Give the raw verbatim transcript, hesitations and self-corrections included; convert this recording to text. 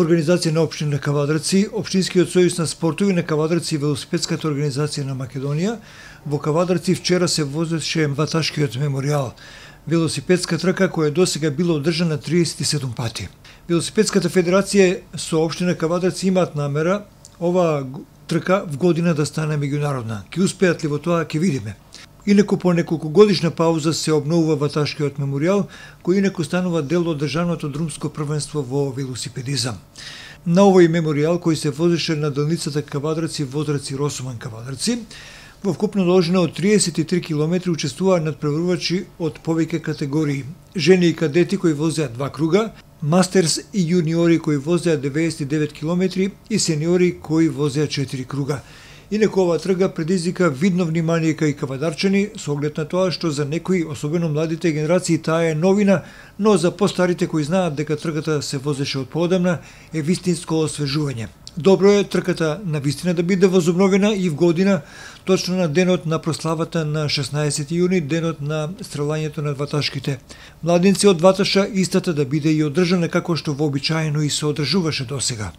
Во организација на општина Кавадарци, Општинскиот сојуз на спортови на Кавадарци и велосипедската организација на Македонија, во Кавадарци вчера се возеше ваташкиот меморијал, велосипедска трка која досега била одржана триесет и седум пати. Велосипедската федерација со општина Кавадарци имаат намера оваа трка в година да стане меѓународна. Ќе успеат ли во тоа, ќе видиме. Инаку по неколку годишна пауза се обновува ваташкиот меморијал, кој инаку станува дел од државното друмско првенство во велосипедизам. На овој меморијал кој се возеше на делницата Кавадарци-Возраци Росуман-Кавадарци, во вкупна должина од триесет и три километри учествуваа надпреварувачи од повеќе категории: жени и кадети кои возеа два круга, мастерс и јуниори кои возеа деветдесет и девет километри и сениори кои возеа четири круга. Инаку ова трга предизвика видно внимание кај кавадарчани со оглед на тоа што за некои, особено младите генерации, таа е новина, но за постарите кои знаат дека трката се возеше од поодамна е вистинско освежување. Добро е трката на вистина да биде возобновена и в година, точно на денот на прославата на шеснаесети јуни, денот на стрелањето на ваташките младинци од Ваташа, истата да биде и одржана како што вообичаено и се одржуваше досега.